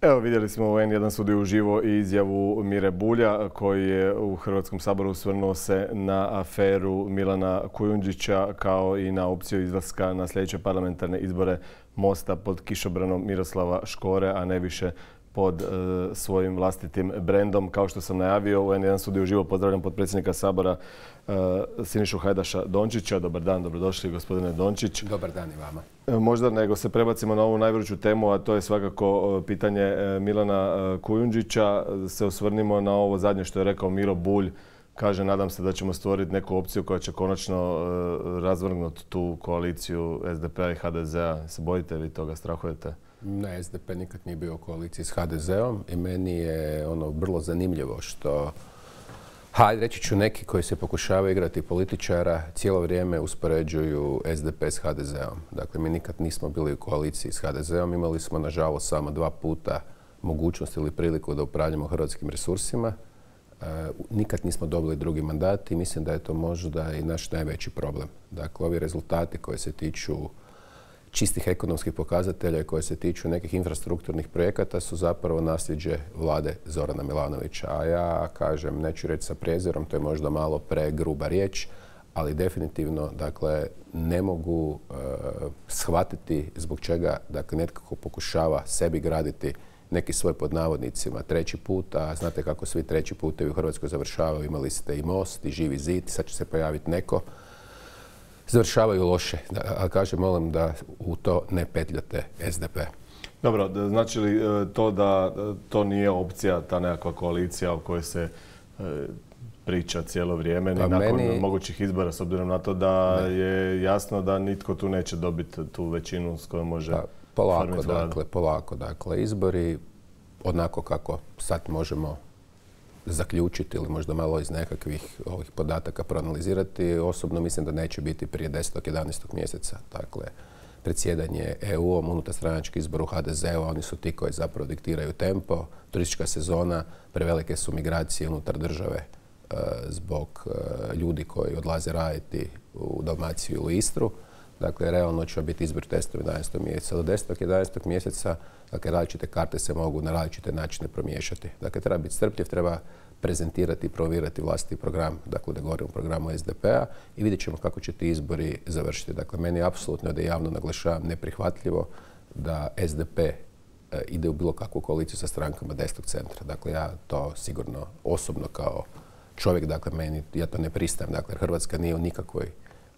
Evo, vidjeli smo u N1 studiju uživo i izjavu Mire Bulja koji je u Hrvatskom saboru osvrnuo se na aferu Milana Kujundžića kao i na opciju izlaska na sljedeće parlamentarne izbore Mosta pod kišobranom Miroslava Škore, a ne više pod svojim vlastitim brendom. Kao što sam najavio, u N1 studiju uživo pozdravljam potpredsjednika Sabora Sinišu Hajdaša Dončića. Dobar dan, dobrodošli gospodine Dončić. Dobar dan i vama. Možda nego se prebacimo na ovu najvruću temu, a to je svakako pitanje Milana Kujundžića. Se osvrnimo na ovo zadnje što je rekao Miro Bulj. Kaže, nadam se da ćemo stvoriti neku opciju koja će konačno razvrgnuti tu koaliciju SDP-a i HDZ-a. Se bojite vi toga, strahujete? Ne, SDP nikad nije bio u koaliciji s HDZ-om i meni je vrlo zanimljivo što, reći ću, neki koji se pokušavaju igrati političara cijelo vrijeme uspoređuju SDP s HDZ-om. Dakle, mi nikad nismo bili u koaliciji s HDZ-om, imali smo nažalost samo 2 puta mogućnost ili priliku da upravljamo hrvatskim resursima. Nikad nismo dobili drugi mandat i mislim da je to možda i naš najveći problem. Dakle, ovi rezultati koji se tiču čistih ekonomskih pokazatelja i koje se tiču nekih infrastrukturnih projekata su zapravo nasljeđe vlade Zorana Milanovića. A ja kažem, neću reći sa prezirom, to je možda malo pregruba riječ, ali definitivno, dakle, ne mogu shvatiti zbog čega, dakle, netko pokušava sebi graditi neki svoj, pod navodnicima, treći put, a znate kako svi treći putevi u Hrvatskoj završavaju. Imali ste i Most i Živi zid, sad će se pojaviti neko. Završavaju loše. Ali kažem, molim da u to ne petljate SDP. Dobro, znači li to da to nije opcija, ta nekakva koalicija o kojoj se priča cijelo vrijeme, ni nakon mogućih izbora, s obzirom na to da je jasno da nitko tu neće dobiti tu većinu s kojom može formirati vladu? Polako. Dakle, izbori onako kako sad možemo zaključiti ili možda malo iz nekakvih ovih podataka proanalizirati, osobno mislim da neće biti prije 10. 11. mjeseca. Dakle, predsjedanje EU-om, unutarstranački izbor u HDZ-u, oni su ti koji zapravo diktiraju tempo. Turistička sezona, prevelike su migracije unutar države zbog ljudi koji odlaze raditi u Dalmaciju ili Istru. Dakle, realno će biti izbor 10. 11. mjeseca. Do 10. 11. mjeseca, dakle, različite karte se mogu na različite načine promiješati. Dakle, treba biti strpljiv, treba prezentirati i provirati vlastiti program, dakle, da govorimo o programu SDP-a i vidjet ćemo kako će ti izbori završiti. Dakle, meni je apsolutno, da javno naglašavam, neprihvatljivo da SDP ide u bilo kakvu koaliciju sa strankama desnog centra. Dakle, ja to sigurno osobno kao čovjek, dakle, ja to ne pristajem. Dakle, Hrvatska nije u nikakvoj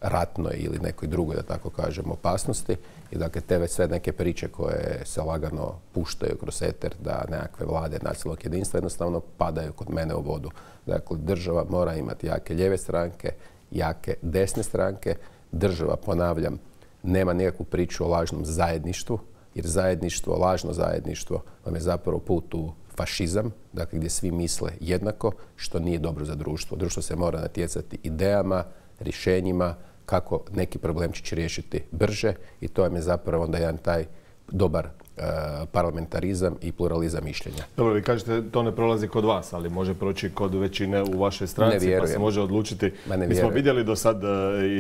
ratnoj ili nekoj drugoj, da tako kažem, opasnosti. I dakle, te sve neke priče koje se lagano puštaju kroz eter da nekakve vlade nacionalnog jedinstva jednostavno padaju kod mene u vodu. Dakle, država mora imati jake lijeve stranke, jake desne stranke. Država, ponavljam, nema nikakvu priču o lažnom zajedništvu, jer zajedništvo, lažno zajedništvo vam je zapravo put u fašizam, dakle, gdje svi misle jednako, što nije dobro za društvo. Društvo se mora natjecati idejama, rješenjima, kako neki problemčić riješiti brže i to vam je zapravo onda jedan taj dobar parlamentarizam i pluralizam mišljenja. Dobro, vi kažete to ne prolazi kod vas, ali može proći kod većine u vašoj stranci, pa se može odlučiti. Mi smo vidjeli do sad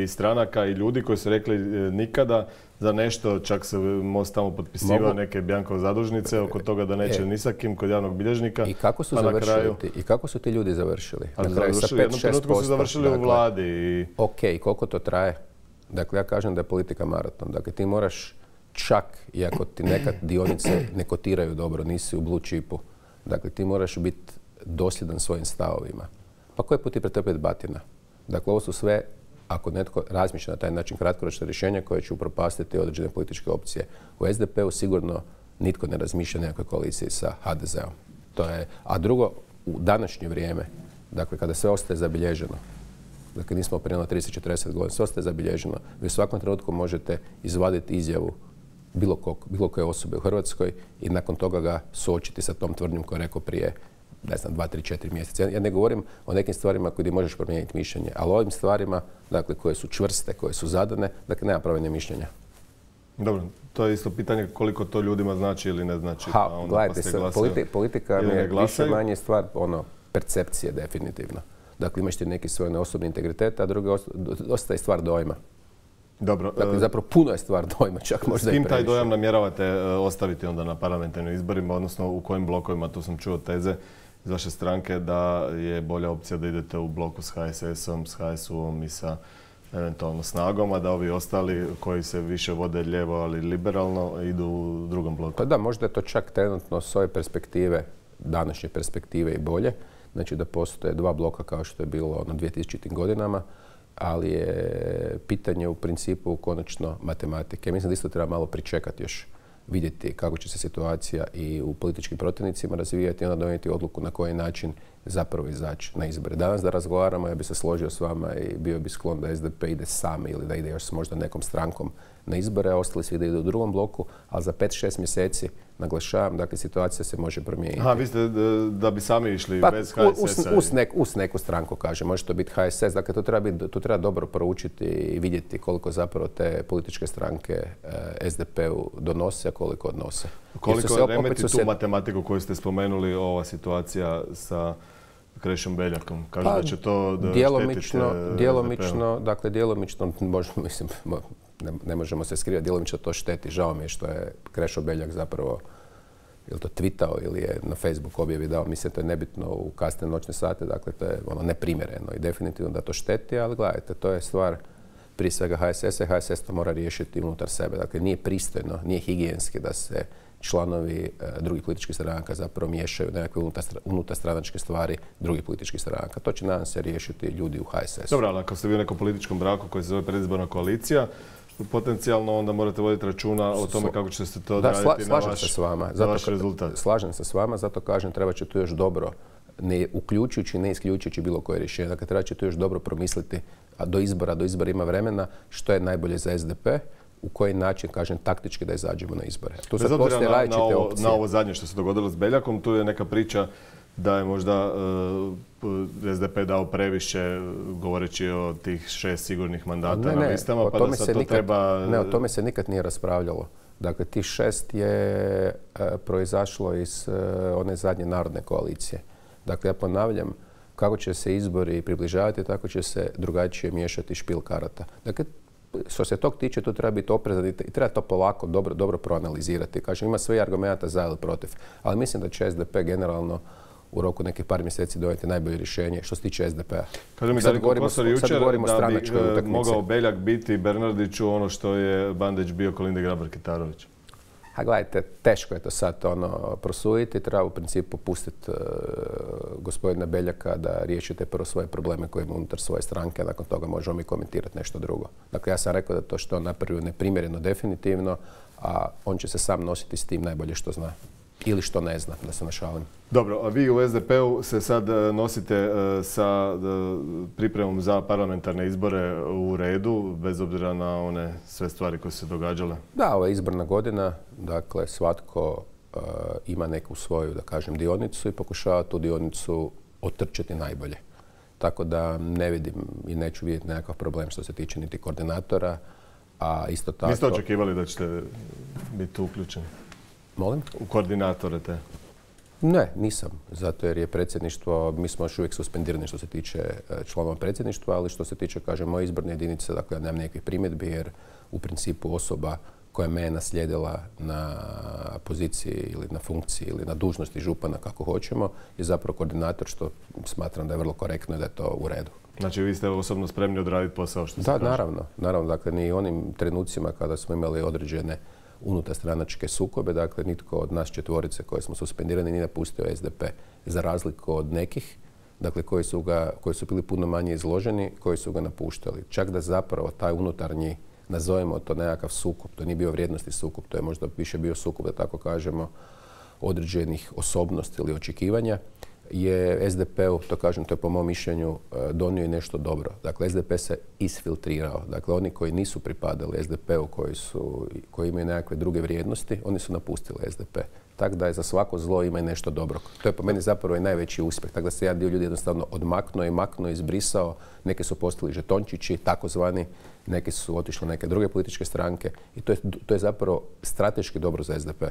i stranaka i ljudi koji su rekli nikada za nešto, čak se Most tamo potpisivao neke Bjankove zadužnice oko toga da neće ni sa kim kod javnog bilježnika. I kako su završili? I kako su ti ljudi završili? Na kraju sa 5-6% su završili u vladi. Ok, koliko to traje? Dakle, ja kažem da je politika maraton. Dakle, ti moraš čak i ako ti nekad dionice ne kotiraju dobro, nisi u blue chipu, dakle, ti moraš biti dosljedan svojim stavovima. Pa koji put ti pretrpjeti batina? Dakle, ovo su sve, ako netko razmišlja na taj način, kratkoročne rješenja koje će upropastiti određene političke opcije. U SDP-u sigurno nitko ne razmišlja nekakve koalicije sa HDZ-om. A drugo, u današnje vrijeme, dakle, kada sve ostaje zabilježeno, dakle, nismo prije 30-40 godina, sve ostaje zabilježeno, vi u svakom trenutku možete izvaditi izjavu bilo koje osobe u Hrvatskoj i nakon toga ga suočiti sa tom tvrdnjom koju je rekao prije, ne znam, 2, 3, 4 mjeseca. Ja ne govorim o nekim stvarima koje možeš promijeniti mišljenje, ali o ovim stvarima, dakle, koje su čvrste, koje su zadane, dakle, nema promjene mišljenja. Dobro, to je isto pitanje koliko to ljudima znači ili ne znači. Gledajte, politika mi je više manje stvar percepcije definitivno. Dakle, imaš ti neki svoj osobni integritet, a drugi dosta je stvar dojma. Dobro. Dakle, zapravo puno je stvar dojma, čak možda i previše. S kim taj dojam namjeravate ostaviti onda na parlamentarnim izborima, odnosno u kojim blokovima? Tu sam čuo teze iz vaše stranke da je bolja opcija da idete u bloku s HSS-om, s HSU-om i sa eventualno Snagom, a da ovi ostali koji se više vode lijevo, ali liberalno, idu u drugom bloku. Pa da, možda je to čak trenutno s ove perspektive, današnje perspektive i bolje. Znači da postoje dva bloka kao što je bilo na 2000. godinama, ali je pitanje u principu konačno matematike. Mislim da isto treba malo pričekati još, vidjeti kako će se situacija i u političkim protivnicima razvijati i onda donijeti odluku na koji način zapravo izaći na izbore. Danas da razgovaramo, ja bi se složio s vama i bio bi sklon da SDP ide sam ili da ide još s možda nekom strankom na izbore, a ostali svi da idu u drugom bloku, ali za 5-6 mjeseci, naglašavam, dakle situacija se može promijeniti. Aha, vi ste da bi sami išli bez HSS-a? Uz neku stranku, kaže. Može to biti HSS, dakle to treba dobro proučiti i vidjeti koliko zapravo te političke stranke SDP-u donose, a koliko odnose. Koliko remeti tu matematiku koju ste spomenuli, ova situacija sa Krešom Beljakom? Kaže da će to štetiti djelomično, dakle djelomično, mislim, ne možemo se skrivati, djelomično to šteti. Žao mi je što je Krešo Beljak zapravo ili to tweetao ili je na Facebook objavi dao, mislim to je nebitno u kasne noćne sate, dakle to je ono neprimjereno i definitivno da to šteti, ali gledajte, to je stvar prije svega HSS-a i HSS to mora riješiti unutar sebe. Dakle, nije pristojno, nije higijenski da se članovi drugih političkih stranaka zapravo miješaju nekakve unutarstranačke stvari drugih političkih stranaka. To će nadam se riješiti ljudi u HSS-u. Dobro, ali ako ste vi u nekom političkom braku koji se zove predizborna koalicija, potencijalno onda morate voditi računa o tome kako će se to odraditi na vaš rezultat. Slažem se s vama, zato kažem treba će tu još dobro, ne uključujući, ne isključujući bilo koje rješenje. Dakle, treba će tu još dobro promisliti, a do izbora ima vremena, što je najbolje za SDP, u koji način, kažem, taktički da izađemo na izbore. Tu se postoje različite opcije. Na ovo zadnje što se dogodilo s Beljakom, tu je neka priča da je možda SDP dao previše govoreći o tih 6 sigurnih mandata na listama, pa da sad to treba... Ne, o tome se nikad nije raspravljalo. Dakle, tih 6 je proizašlo iz one zadnje narodne koalicije. Dakle, ja ponavljam, kako će se izbori približavati, tako će se drugačije miješati špil karata. Dakle, što se tog tiče, tu treba biti oprezan i treba to polako, dobro proanalizirati. Kažem, ima sve argumenta za ili protiv, ali mislim da će SDP generalno u roku nekih par mjeseci donijeti najbolje rješenje što se tiče SDP-a. Kaže mi Darinko Kosor jučer da bi mogao Beljak biti Bernardiću ono što je Bandić bio Kolindi Grabar-Kitarović. A gledajte, teško je to sad prosuditi. Treba u principu pustiti gospodina Beljaka da riješite prvo svoje probleme koje ima unutar svoje stranke, a nakon toga možemo mi komentirati nešto drugo. Dakle, ja sam rekao da to što on napravio neprimjereno definitivno, a on će se sam nositi s tim najbolje što zna. Ili što ne zna, da se našalim. Dobro, a vi u SDP-u se sad nosite sa pripremom za parlamentarne izbore u redu, bez obzira na one sve stvari koje su se događale? Da, ovo je izborna godina, dakle svatko ima neku svoju, da kažem, dionicu i pokušava tu dionicu otrčati najbolje. Tako da ne vidim i neću vidjeti nekakav problem što se tiče niti koordinatora, a isto tako... Niste očekivali da ćete biti uključeni? Molim? U koordinatore te? Ne, nisam. Zato jer je predsjedništvo, mi smo još uvijek suspendirani što se tiče članova predsjedništva, ali što se tiče, kažem, moje izborne jedinice, dakle, ja nemam nekakvih primjedbi jer u principu osoba koja me je naslijedila na poziciji ili na funkciji ili na dužnosti župana, kako hoćemo, je zapravo koordinator, što smatram da je vrlo korektno i da je to u redu. Znači, vi ste osobno spremni odraditi posao, što se kaže? Da, naravno. Dakle, ni u onim trenucima kada smo imali određene unutarstranačke sukobe, dakle nitko od nas četvorice koje smo suspendirani nije napustio SDP, za razliku od nekih, dakle koji su bili puno manje izloženi, koji su ga napuštali. Čak da zapravo taj unutarnji, nazovimo to nekakav sukob, to nije bio vrijednosti sukob, to je možda više bio sukob, da tako kažemo, određenih osobnosti ili očekivanja, je SDP-u, to kažem, to je po mom mišljenju, donio i nešto dobro. Dakle, SDP se isfiltrirao. Dakle, oni koji nisu pripadali SDP-u, koji imaju nekakve druge vrijednosti, oni su napustili SDP. Tako da je za svako zlo ima i nešto dobro. To je po meni zapravo i najveći uspjeh. Tako da se jedan dio ljudi jednostavno odmaknuo, izbrisao. Neki su postali žetončići, takozvani, neki su otišli neke druge političke stranke i to je zapravo strateški dobro za SDP.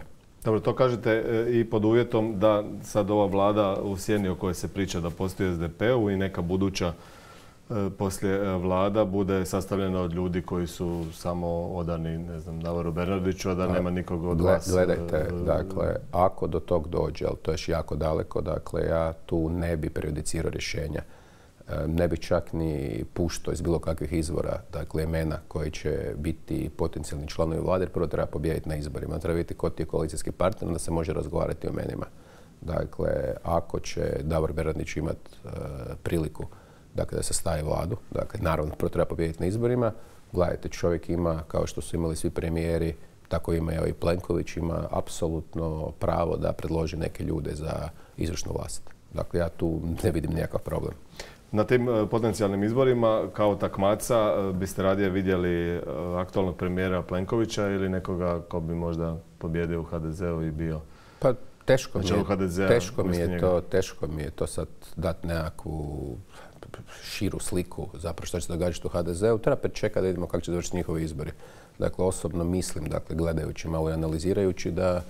Dobro, to kažete i pod uvjetom da sad ova vlada u sjeni o kojoj se priča da postoji SDP-u i neka buduća poslije vlada bude sastavljena od ljudi koji su samo odani, ne znam, Davoru Bernardiću, a da nema nikog od vas. Gledajte, dakle, ako do tog dođe, ali to je još jako daleko, dakle, ja tu ne bi prejudicirao rješenja. Ne bi čak ni puštao iz bilo kakvih izvora, dakle, imena koji će biti potencijalni članovi vlade, jer prvo treba pobijediti na izborima. Treba vidjeti ko ti je koalicijski partner, da se može razgovarati o imenima. Dakle, ako će Davor Bernardić imati priliku da se stavi vladu, dakle, naravno, prvo treba pobijediti na izborima. Gledajte, čovjek ima, kao što su imali svi premijeri, tako ima i Plenković, ima apsolutno pravo da predloži neke ljude za izvršnu vlast. Dakle, ja tu ne vidim nikakav problem. Na tim potencijalnim izborima kao takmaca biste radije vidjeli aktualnog premijera Plenkovića ili nekoga ko bi možda pobjedio u HDZ-u i bio? Pa teško mi je to sad dati nekakvu širu sliku zapravo što će se događati u HDZ-u. Treba pričekati da vidimo kako će završiti njihovi izbori. Dakle, osobno mislim, dakle, gledajući malo i analizirajući da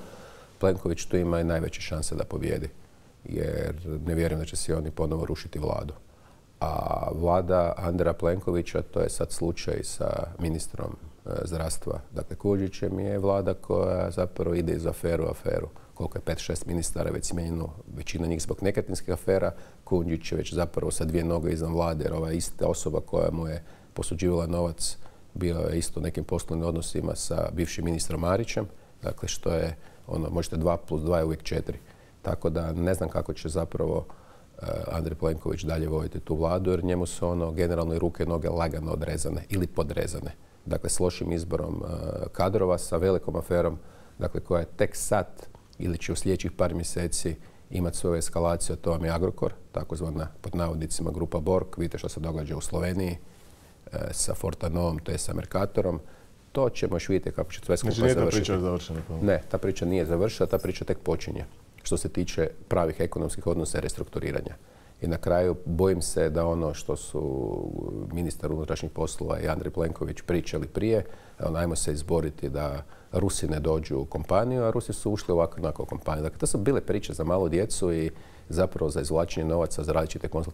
Plenković tu ima i najveće šanse da pobjedi. Jer ne vjerujem da će si oni ponovo rušiti vladu. A vlada Andreja Plenkovića, to je sad slučaj sa ministrom zdravstva, dakle Kujundžićem, je vlada koja zapravo ide iz aferu u aferu. Koliko je 5-6 ministara već smijenjeno, većina njih zbog nekretninskih afera. Kujundžić je već zapravo sa 2 noge izvan vlade, jer ova ista osoba koja mu je posuđivala novac bio je isto u nekim poslovnim odnosima sa bivšim ministrom Marićem. Dakle, što je ono, možete 2 + 2 je uvijek 4. Tako da ne znam kako će zapravo Andrej Plenković dalje voditi tu vladu, jer njemu su ono generalno i ruke i noge lagano odrezane ili podrezane. Dakle, s lošim izborom kadrova, sa velikom aferom, dakle, koja je tek sad ili će u sljedećih par mjeseci imati svoju eskalaciju, a to vam je Agrokor, takozvana pod navodnicima grupa Borg. Vidite što se događa u Sloveniji sa Fortanovom, to je sa Mercatorom. To ćemo još vidjeti kako će sve skupa završiti. Znači nije ta priča završena? Ne, ta priča nije završena, ta priča tek počinje što se tiče pravih ekonomskih odnosa i restrukturiranja. I na kraju bojim se da ono što su ministar unutrašnjih poslova i Andrej Plenković pričali prije, ajmo se izboriti da Rusi ne dođu u kompaniju, a Rusi su ušli ovako onako u kompaniju. Dakle, to su bile priče za malu djecu i zapravo za izvlačenje novaca za različite konzultativne